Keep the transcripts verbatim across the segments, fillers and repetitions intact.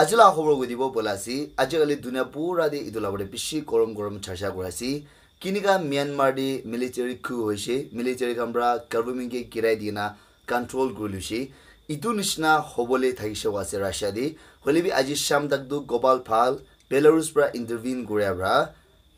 Aji la khobor koi dibo bola ase, aji kali dunia pura te etu la bole bishi gorom gorom charcha kura ase. Kinika Myanmar te military coup hoise, military khan pra government ke girai dina control kuri luse. Etu nishina hobole thakishe wa ase Russia te. Hoile bi aji sham tak tu Gopal Pal, Belarus pra intervene kuria pra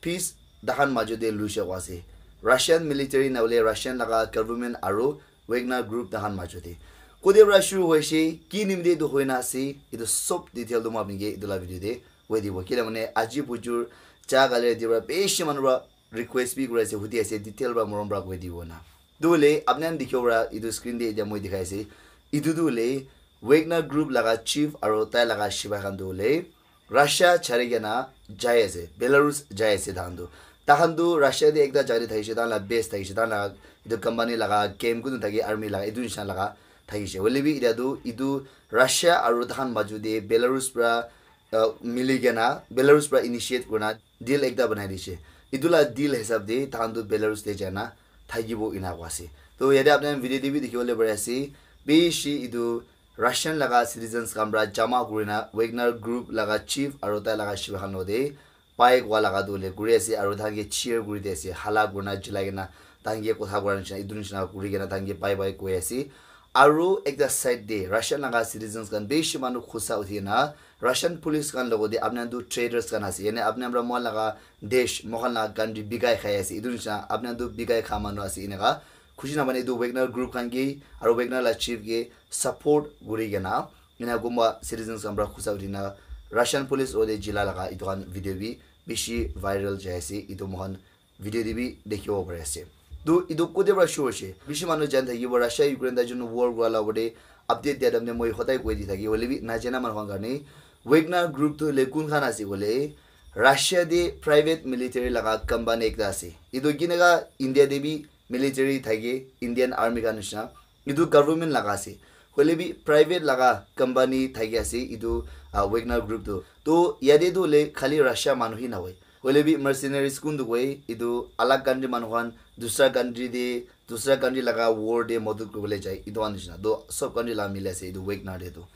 peace dahan majo te luishe wa ase. Russian military na hoile Russian laga government aru Wagner group dahan majo te. Kode pra shuru hoise, ki nimite etu hoina ase, etu sob detail tu moi apni ke etu la video te koi dibo. Kile mane aji bujur cha kali rati pra bishi manu pra request bi kuri ase, hudi ase, detail pra morom pra koi dibo na. Tu hoile apni khan dikhibo pra etu screen te etia moi dikhai ase. Etu tu hoile Wagner group laga chief aru tai laga shipai khan tu hoile Russia chari kena jai ase, Belarus jai ase tahan tu. Tahan tu Russia te ekta jai te thakishe, tahan la base thakishe, tahan la etu company laga camp kunu thake, army laga etu nishina laga thakishe. Hoile bi etia tu etu Russia aru tahan maju te Belarus pra, uh, mili kena, Belarus pra initiate kurina deal ekta banai dishe. Etu la deal hisab te tahan tu Belarus te jaina thakibo ena koi ase. To yate apni khan video te bi dikhibole pari ase, bishi etu Russian laga citizens khan pra jama kurina Wagner group laga chief aru tai laga shipai khan logote bike wala laga tu hoile kuri ase aru tahan ke cheer kuri di ase, hala kurina chilai kena tahan ke kotha kura nishina, etu nishina kuri kena tahan ke bye bye koi ase. Aru ekta side te Russian laga citizens khan bishi manu khusa uthi kena Russian police khan logote apni khan tu traitors khan ase, yane apni khan pra moi laga desh, moi khan laga country bikai khai ase, etu nishina apni khan tu bikai kha manu ase, eneka khushi na mane etu Wagner group khan ke aru Wagner la chief ke support kuri kena ena kunba citizens khan pra khusa uthi na Russian police logote jila laga etu khan video bi bishi viral jai ase, etu moi khan video te bi dikhibo pari ase. Tu etu kote pra shuru hoise? Bishi manu jani thakibo, Russia Ukraine tai jun war kura la opor te update dia time te moi hodai koi di thaki, hoile bi najana manu khan karne Wagner group tu hoile kun khan ase koile, Russia te private military laga company ekta ase. Etu kineka India te bi military thake, Indian army khan nishina. Etu government laga ase. Hoile bi private laga company thaki ase etu, ah, Wagner group tu. To yate tu hoile khali Russia manu hi nahoi. Hoile bi mercenaries kun tu koi, etu alag country manu khan dusra country te, dusra country laga war te madad kuribole jai. Etu khan nishina. To sob country laga mili ase etu Wagner te tu.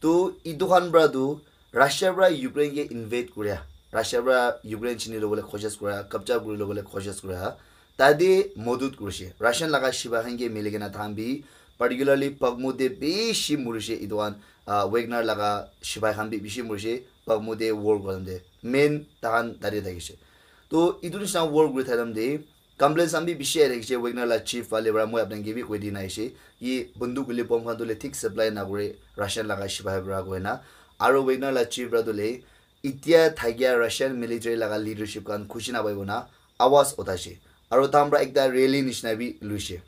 To etu khan pra tu Russia pra Ukraine ke invade kuria, Russia pra Ukraine chini lobole koshish kuria, kabja kuri lobole koshish kuria, tate madad kurishe. Russian laga shipai khan ke mili kena tahan bi, particularly Bakhmut te bishi murishe etu khan, ah, Wagner laga shipai khan bi bishi murishe, Bakhmut te war kura time te. Main tahan tate thakishe. To etu nishina war kuri thaka time te, complaints khan bi bishi ahi thakishe, Wagner la chief phale pra moi apni khan ke bi koi dina ahishe. Ye banduk hoile bomb khan tu hoile thik supply nakure Russian laga shipai pra koina. Aru Wagner la chief pra tu hoile etia thakia Russian military laga leadership khan khushi napaibo na awaz uthaishe. Aru tahan pra ekta rally nishina bi luishe.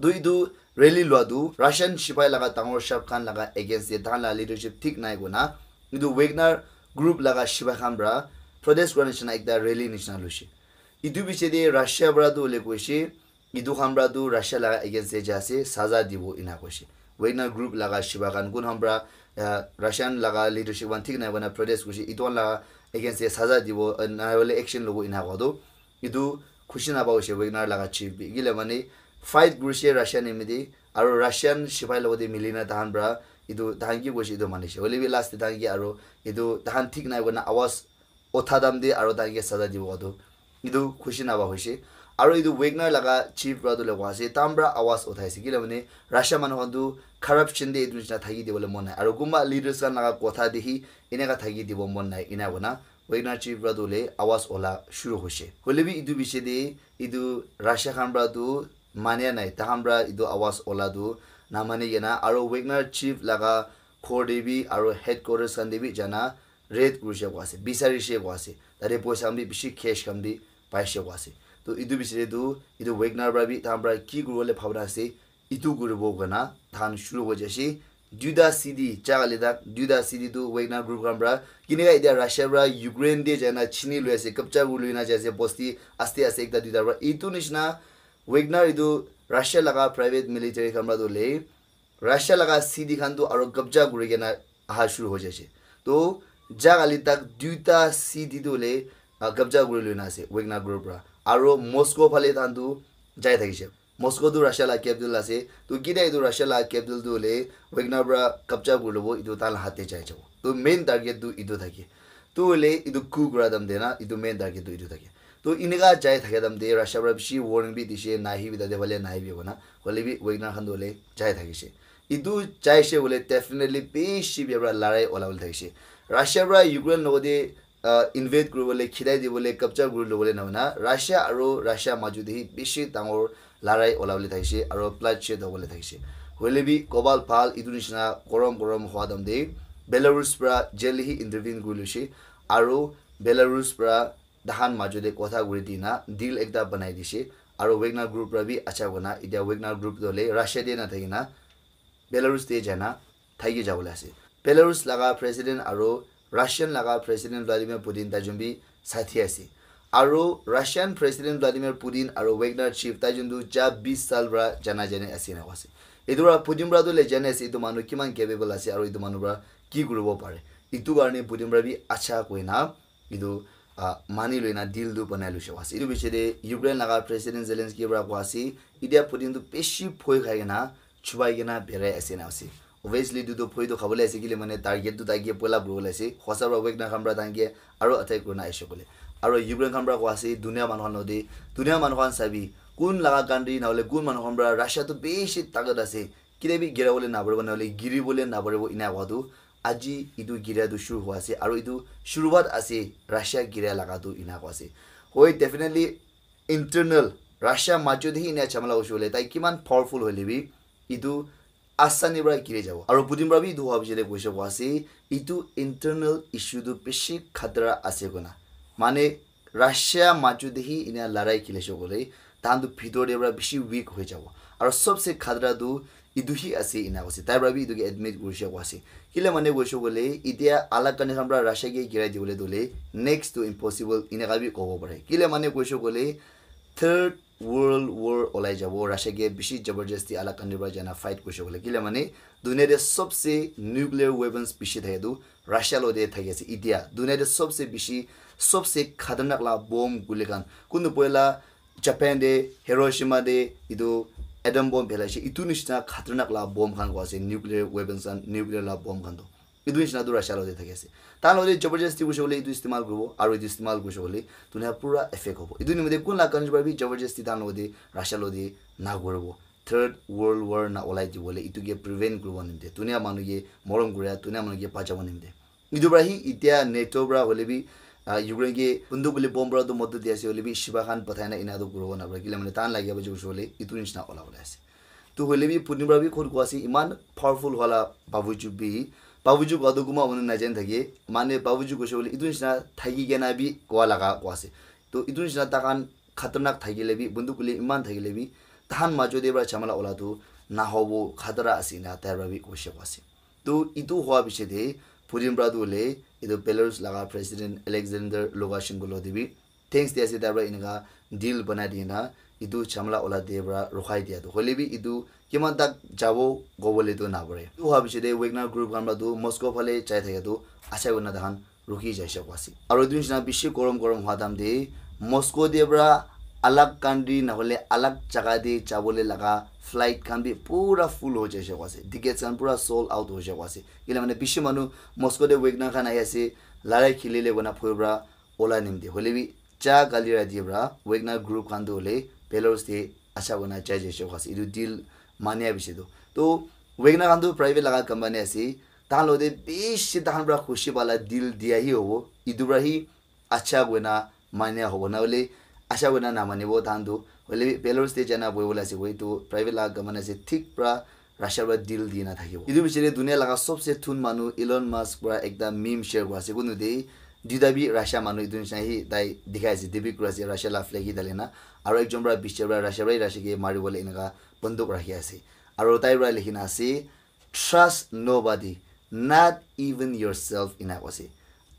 Tu etu rally lua tu Russian shipai laga dangor shop khan laga against te tahan la leadership thik nai koina etu Wagner group laga shipai khan pra protest kura nishina ekta rally nishina luishe. Etu piche te Russia pra tu hoile koishe, etu khan pra tu Russia laga against te jai ase, saza dibo ena koishe. Wagner group laga shipai khan kun khan pra, ah, Russian laga leadership khan thik nai koina protest kurishe, etu khan laga against te saza dibo, ah, nahoi le action lobo ena koa tu. Etu khushi napa hoishe Wagner laga chief bi. Kile mane fight kurishe Russia nimite, aru Russian shipai logote mili na tahan pra etu tahan ki koishe etu manishe. Hoile bi last te tahan ki aru etu tahan thik nai koina awaz utha time te aru tahan ke saza dibo koa tu etu khushi napa hoishe. Aru etu Wagner laga chief pra tu hoile koa ase, tahan pra awaz uthaise. Kile mane Russia manu khan tu corruption te etu nishina thaki dibole mon nai. Aru kunba leaders khan laga kotha te hi eneka thaki dibo mon nai, ena koina Wagner chief pra tu hoile awaz ula shuru hoishe. Hoile bi etu piche te etu Russia khan pra tu mania nai, tahan pra etu awaz ula tu namani kena, aru Wagner chief laga ghor te bi aru headquarters khan te bi jaina raid kurishe koa ase, bisarishe koa ase. Tate poisa khan bi bishi, cash khan bi paishe koa ase. To etu piche te tu etu Wagner pra bi tahan pra ki kuribole bhabna ase, etu kuribo koina tahan shuru hoi jaishe. Duita city, cha kali tak duita city tu Wagner group khan pra kineka etia Russia pra Ukraine te jaina chini loi ase, kabja kuri loi na jai ase, bosti aste aste ekta duita pra. Etu nishina Wagner etu Russia laga private military khan pra tu hoile Russia laga city khan tu aru kabja kuri kena aha shuru hoi jaise. To ja kali tak duita city tu hoile, ah, kabja kuri loi na ase Wagner group pra. Aru Moscow phale tahan tu jai thakishe. Moscow tu Russia la capital ase. To kida etu Russia la capital tu hoile Wagner pra kabja kuri lobo, etu tai la hat te jai jabo. To main target tu etu thake. To hoile etu coup kura time te na, etu main target tu etu thake. To inika jai thaka time te Russia pra bishi warning bi dishe, nahibi tate phale nahibi kona. Hoile bi Wagner khan tu hoile jai thakishe. Etu jaishe hoile definitely bishi bia pra larai ola bole thakishe. Russia pra Ukraine logote uh, invade kuribole, khidai dibole, kabja kuri lobole na hoina, Russia aru Russia majo te hi bishi dangor larai ola bole thakishe, aru bloodshed hobole thakishe. Hoile bi kobal bhal, etu nishina gorom gorom hua time te Belarus pra jelly hi intervene kuri loishe, aru Belarus pra tahan majo te kotha kuri dina deal ekta banai dishe, aru Wagner group pra bi acha kona, etia Wagner group tu hoile Russia te na thakina, Belarus te jana thaiki jabole ase. Belarus laga president aru Russian laga president Vladimir Putin tai jun bi sathi ase. Aru Russian president Vladimir Putin aru Wagner chief tai jun tu ja bis sal pra jana jane ase na ase. Etu pra Putin pra tu le jane ase, etu manu kiman capable ase aru etu manu pra ki kuribo pare. Etu karne Putin pra bi acha koina etu, ah, mani loina deal tu banai loishe ase. Etu piche te Ukraine laga president Zelensky pra koa ase, etia Putin tu bishi bhoi khai kena, chubai kena berai ase na ase. Obviously, etu tu bhoi tu khabole ase, kile mane target tu taike pull up kuribole ase. Hosa pra Wagner khan pra tanke aro attack kurina aishe kole. Aro Ukraine khan pra koa ase, dunia manu khan logote, dunia manu khan sabi, kun laga country na hole kun manu khan pra Russia tu bishi takat ase. Kile bi gira bole na paribo, na hole giri bole na paribo, ina koa tu aji etu giria tu shuru hua ase, aru etu shuruwat ase Russia giria laga tu ina koa ase. Hoi, definitely internal Russia majo te hi ina jhamala hoishe hoile, tai kiman powerful hoile bi, etu asani pra giri jabo. Aru Putin pra bi etu hua piche te koishe koa ase, etu internal issue tu bishi khatara ase koina. Mane, Russia majo te hi ina larai khilishe koile, tahan tu bhitor te pra bishi weak hoi jabo. Aru sobse khatara tu etu hi ase ina koise. Tai pra bi etu ke admit kurishe koa ase. Kile mane koishe koile, itia alag country khan pra Russia ke girai dibole tu hoile, next to impossible ina ka bi kobo pare. Kile mane koishe koile, third world war olai jabo. Russia ke bishi jabardasti alag country pra jana fight kurishe koile. Kile mane, dunia te sobse nuclear weapons bishi thake tu Russia logote thaki ase. Itia dunia te sobse bishi, sobse khatarnak la bomb guli khan. Kuntu poila Japan te, Hiroshima te, etu atom bomb phelaishe. Etu nishina khatarnak la bomb khan koa ase, nuclear weapons khan, nuclear la bomb khan tu. Etu nishina tu Russia logote thaki ase. Tahan logote jabardasti kurishe koile etu istemal kuribo, aru etu istemal kurishe koile dunia pura effect hobo. Etu nimite kun la country pra bi jabardasti tahan logote Russia logote na kuribo. Third World War na olai dibole, etu ke prevent kuribo nimite, dunia manu ke morom kuria, dunia manu ke bachabo nimite. Etu pra hi itia NATO pra hoile bi, ah, Ukraine ke bunduk bole bomb pra tu modot di ase hoile bi, shiba khan pathai na ina tu kuribo na pare. Kile mane tahan lage abo jai hoile etu nishina ola ola ase. Tu hoile bi Putin pra bi khud koa ase, iman powerful hola babuju bi, babuju koa tu kuma manu na jan thake, mane babuju koishe hoile etu nishina thaki kena bi koa laga koa ase. Tu etu nishina tahan khatarnak thakile bi, bunduk guli iman thakile bi, tahan majo te pra jhamala ola tu nahobo, khatara ase na tai pra bi koishe koa ase. To etu hua piche te Putin pra tu hoile etu Belarus laga president Alexander Lukashenko logote bi thanks di ase, tai pra enika deal banai di na etu jhamala ola te pra rukhai dia tu. Hoile bi etu kiman tak jabo kobole tu na pare. Etu hua piche te Wagner group khan pra tu Moscow phale jai thaka tu acha kurina tahan rukhi jaise koa ase. Aru etu nishina bishi gorom gorom hua time te Moscow te pra alag country na hole alag jaga te jabole laga flight khan bi pura full ho jaise koa ase. Tickets khan pura sold out ho jaise koa ase. Kile mane bishi manu Moscow te Wagner khan ahi ase, larai khilile koina bhoi pra ola nimite. Hoile bi ja kali rati pra Wagner group khan tu hoile Belarus te acha kurina jai jaise koa ase. Etu deal mania bishi tu. To Wagner khan tu private laga company ase. Tahan logote bishi tahan pra khushi pala deal dia hi hobo. Etu pra hi acha koina mania hobo, na hole acha koina na manibo tahan tu. Hoile bi Belarus te jana bohi bole ase koi, etu private laga company ase, thik pra Russia pra deal di na thakibo. Etu piche te dunia laga sobse thun manu Elon Musk pra ekta meme share kura ase. Kunu te duita bi Russia manu etu nishina hi tai dikhai ase, depict kura ase, Russia la flag hi dali na. Aru ekjon pra biche pra Russia pra hi Russia ke mari bole enika bunduk rakhi ase. Aru tai pra likhi na ase, "Trust nobody, not even yourself," ena koise.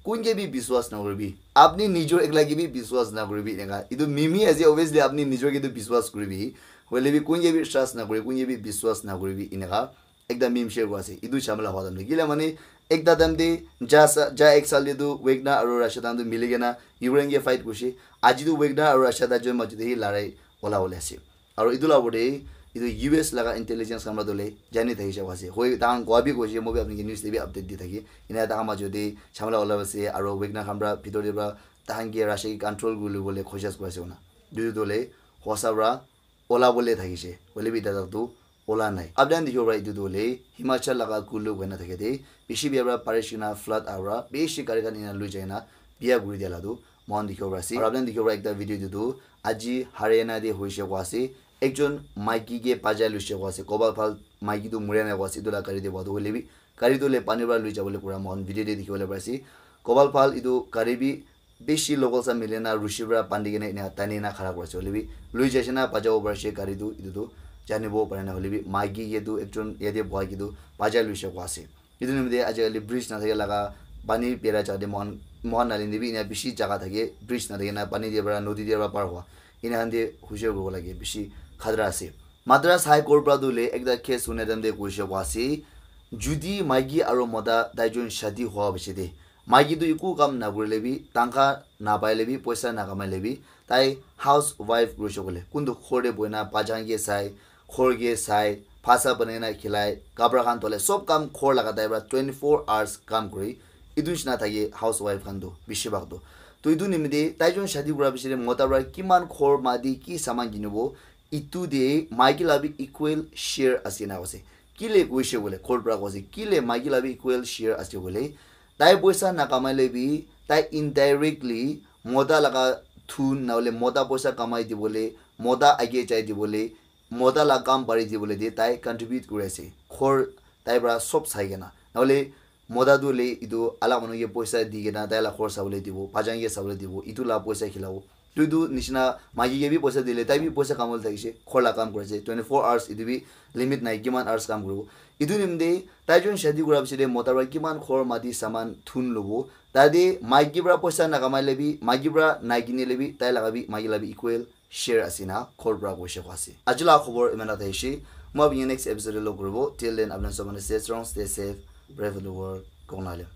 Kun ke bi biswas nakuribi. Apni nijor ekla ke bi biswas nakuribi eneka. Etu meme ase, obviously apni nijor ke tu biswas kuribi. Hoile bi kun ke bi trust nakuri, kun ke bi biswas nakuribi eneka. Ekta meme share kura ase. Etu jhamala hua time te. Kile mane ekta time te ja sa, ja ek saal te tu Wagner aru Russia time tu mili kena Ukraine ke fight kurise. Aji tu Wagner aru Russia ta jon majo te hi larai ola ola ase. Aro etu la opor te etu U S laga intelligence khan para tu le jani thakishe koise. Hoi, tahan koa bi koise, moi bi apni ke news te bi update di thaki. Ena tahan majo te jhamela olai ase, aro Wagner khan para bhitor te para tahan ke Russia ke control kuri bole koshish kuri ase koina. Etu tu le hosa para ola bole thakishe. Hoile bi etia tak tu ola nai. Apni khan dikhibo para etu tu hoile Himachal laga Kullu koina thake de, bishi bia para barish kena flood aha para bishi gari khan ena lui jai na bia kuri dia la tu moikhan dikhibo para ase. Aru apni khan dikhibo para ekta video etu tu aji Haryana te hoishe koa ase. Ekjon maiki ke bajai loishe koa ase. Kobal phal maiki tu muria nai koa ase. Etu la gari te boha tu hoile bi gari tu hoile pani para lui jabo le pura moikhan video te dikhi bole pari ase. Kobal phal etu gari bi bishi local khan mili na rushi para bandi kena ena tani na khara kuri ase. Hoile bi lui jai se na bajabo pari ase gari tu, etu tu janibo pare na. Hoile bi maiki ke tu ekjon yate boha ke tu bajai loishe koa ase. Etu nimite ajikali bridge nathake laga pani bera jaga te moikhan, moikhan nalin te bi ena bishi jaga thake, bridge nathake na pani te para nodi te para par hua. Ena khan te hushar kuribo lage, bishi khatara ase. Madras High Court para tu le ekta case huna time te koishe koa ase, judi maiki aro mota taijon shadi hua piche te, maiki tu eku kam nakurile bi, tangkha napaile bi, poisa nakamaile bi, tai housewife kurishe koile, kuntu ghor te bohina bachan ke sai, ghor ke sai, bhasa banai na khilai, kapra khan dhole, sob kam ghor laga tai para twenty four hours kam kuri. Etu nishina thake housewife khan tu bishi bhag tu. To etu nimite taijon shadi kura piche te mota para kiman ghor mati ki saman kinibo, etu te maiki la bi equal share ase na koise. Kile koishe koile, court para koise, kile maiki la bi equal share ase koile, tai poisa nakamaile bi, tai indirectly mota laga thun, nahole mota poisa kamai dibole, mota age jai dibole, mota la kam pari dibole de tai contribute kuri ase. Ghor tai para sob sai kena. Nahole mota tu hoile etu alak manu ke poisa di kena tai la ghor sabole dibo, bachan ke sabole dibo, etu la poisa khilabo. Tu etu nishina maiki ke bi poisa dile, tai bi poisa kamabole thakishe, ghor la kam kuri ase, twenty four hours, etu bi limit nai, kiman hours kam kuribo. Etu nimite taijon shadi kura piche te mota para kiman ghor mati saman thun lobo, tate maiki para poisa nakamaile bi, maiki para nakinile bi, tai laga bi, maiki la bi equal share ase na court para koishe koa ase. Aji la khobor iman ta thaishe, moi apni next episode te log kuribo. Till then, apni sob manu stay strong, stay safe, pray for the world, kong na le.